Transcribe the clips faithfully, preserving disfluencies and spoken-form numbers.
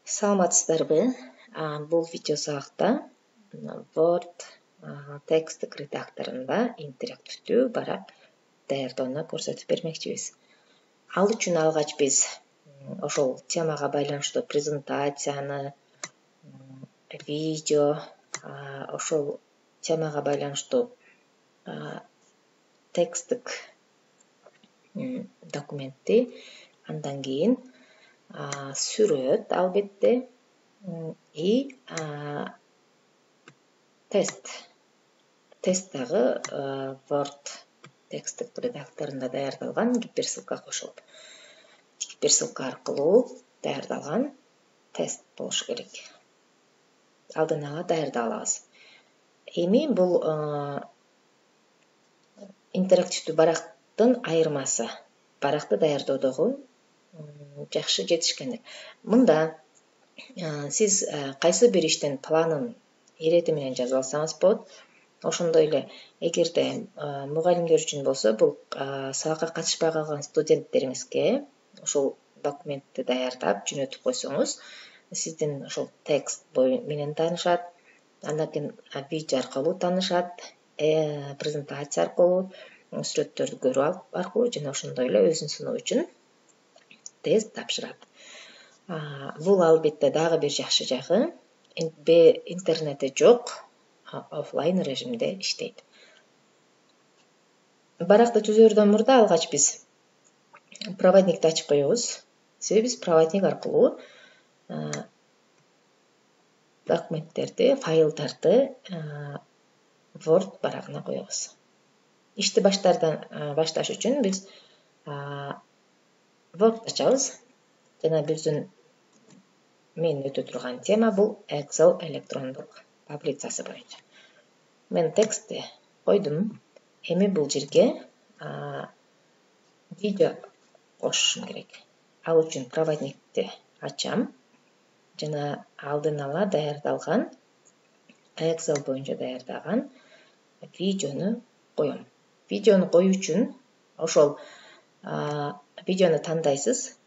Саламатсыздарбы? Бул видео сабакта Word текстик редакторунда интерактивдүү барак даярдоону көрсөтүп бермекчибиз. Ал үчүн алгач биз ошол темага байланыштуу презентацияны, видео, ошол темага байланыштуу текстик документти, андан кийин сүрөт албетте и тест. Тест дагы Word текстик редакторунда даярдалган гиперссылка кошулуп, гиперссылка аркылуу даярдалган тест болуш керек. Алдын ала даярдап алабыз. Эми бул интерактивдүү барактын айырмасы. Баракты даярдоодогу жакшы жетишкендик. Мында сиз кайсы бир иштин планын ирети менен жазып алсаңыз болот. Ошондой эле эгерде мугалимдер үчүн болсо, бул сабакка катышпай калган студенттериңизге ошол документти даярдап жөнөтүп койсоңуз, сиздин ошол текст менен таанышат, андан кийин видео аркылуу таанышат, презентация аркылуу, сүрөттөрдү көрүү аркылуу жана ошондой эле өзүн сыноо үчүн тест тапшырат. Бул албетте дагы бир жакшы жагы, интернети жок, офлайн режимде иштейт. Баракты түзөрдөн мурда алгач биз проводникти ачып коебуз. Себеби биз проводник аркылуу документтерди, файлдарды Word барагына коебуз. Ишти башташ үчүн биз Word ачабыз жана биздин мен өтө турган тема бул Excel электрондук таблицасы боюнча. Мен текстти койдум. Эми бул жерге видео кошушум керек. Ал үчүн проводникти ачам жана алдын ала даярдалган Excel боюнча даярдаган видеону коем. Видеону коюу үчүн ошол видеону тандайсыз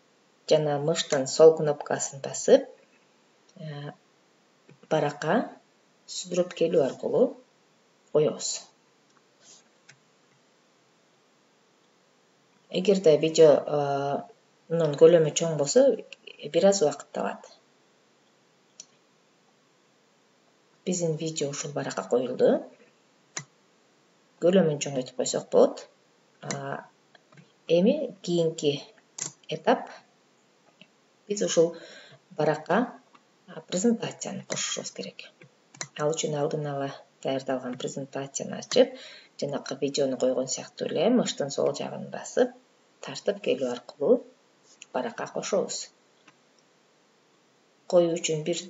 жана мыштын сол кнопкасын басып, баракка сүрөт келүү аркылуу коебуз. Эгерде видеонун көлөмү чоң болсо, бир аз убакыт алат. Биздин видео ушул баракка коюлду. Көлөмүн чоңойтуп койсок болот. Эми кийинки этап биз ушул баракка презентацияны кошушубуз керек. Ал үчүн алдын ала даярдалган презентацияны ачып, жанакы видеону койгон сыяктуу эле мыштын сол жагын басып, тартып келүү аркылуу баракка кошобуз. Коюу үчүн бир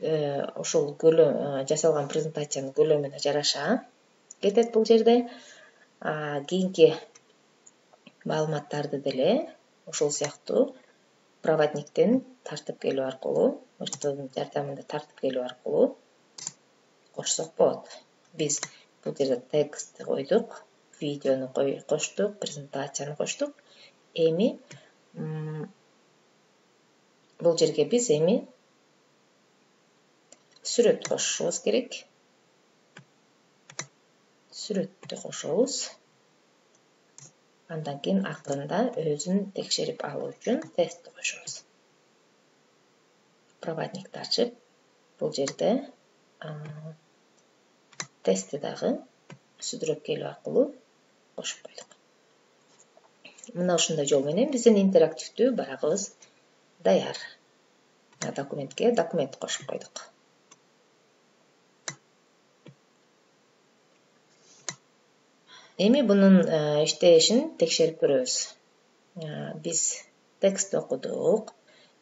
ошол көлөм жасалган презентациянын көлөмүнө жараша кетет бул жерде. Кийинки маалыматтарды деле ошол сыяктуу проводниктен тартып келүү аркылуу, мыштын жардамында тартып келүү аркылуу кошсок болот. Биз бул жерде текстти койдук, видеону коштук, презентацияны коштук. Эми бул жерге биз эми сүрөт кошушубуз керек. Сүрөттү кошобуз. Андан кийин акырында өзүн текшерип алуу үчүн тестти кошобуз. Проводникти ачып, бул жерде тестти дагы сүрөт келүү аркылуу кошуп койдук. Мына ушундай жол менен биздин интерактивдүү барагыбыз даяр. Документке документ кошуп койдук. Эми бунун иштешин текшерип көрөбүз. Биз текстти окудук,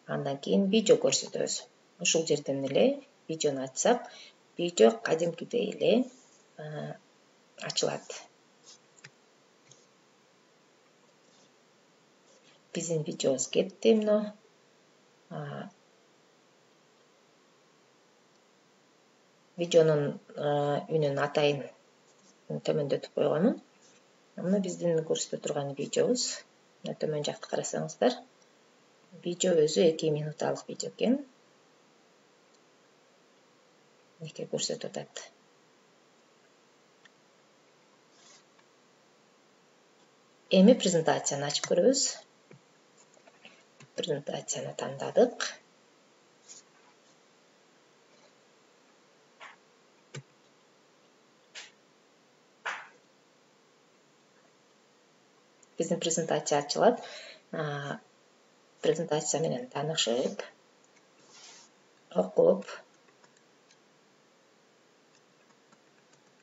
андан кийин видео көрсөтөбүз. Ушул жерден эле видеону ачсак, видео кадимкидей эле ачылат. Биздин видеобуз кетти мына. Видеонун үнүн атайын төмөндөтүп койгонмун. Мына биздин көрсөтө турган видеобуз. Мына төмөн жакты карасаңыздар, видео өзү эки минуталык видео экен. мынеке көрсөтүп атат. Эми презентацияны ачып көрөбүз. Презентацияны тандадык. Биздин презентация ачылат. Презентация менен таанышып, окуп,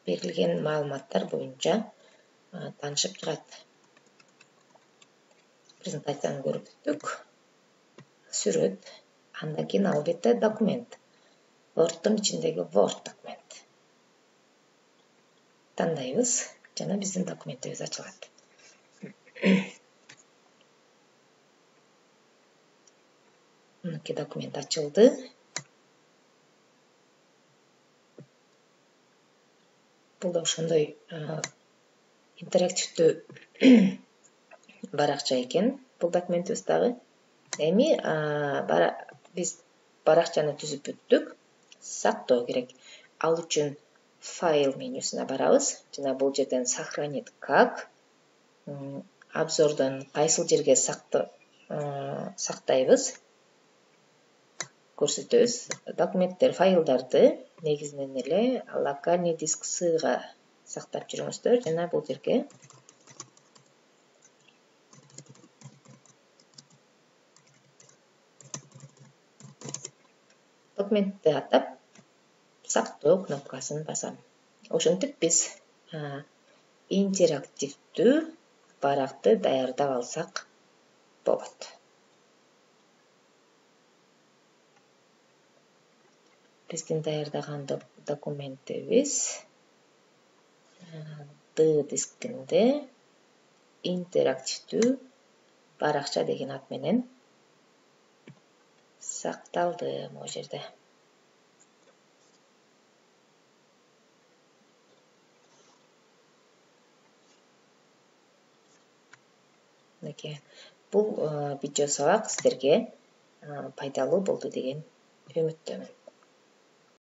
берилген маалыматтар боюнча таанышып чыгат. Презентацияны көрүп бүттүк. Сүрөт, андан кийин албетте документ. Word'дун ичиндеги Word документ. Тандайбыз жана биздин документибиз ачылат. Мынеки документ ачылды. Бул да ошондой интерактивдүү баракча экен. Бул документибиз дагы. Эми биз баракчаны түзүп бүттүк. Сактоо керек. Ал үчүн файл менюсуна барабыз. Жана бул жерден сохранить как, обзордон кайсыл жерге сактайбыз көрсөтөбүз. Документтер, файлдарды негизинен эле локальный диск сыга сактап жүрүңүздөр жана бул жерге документти атап сактоо кнопкасын басам. Ошентип биз интерактивдүү баракты даярдап алсак болот. Биздин даярдаган документибиз D дискинде интерактивдүү баракча деген ат менен сакталды могу жерде. Мынеке бул видео сабак сиздерге пайдалуу болду деген үмүттөмүн.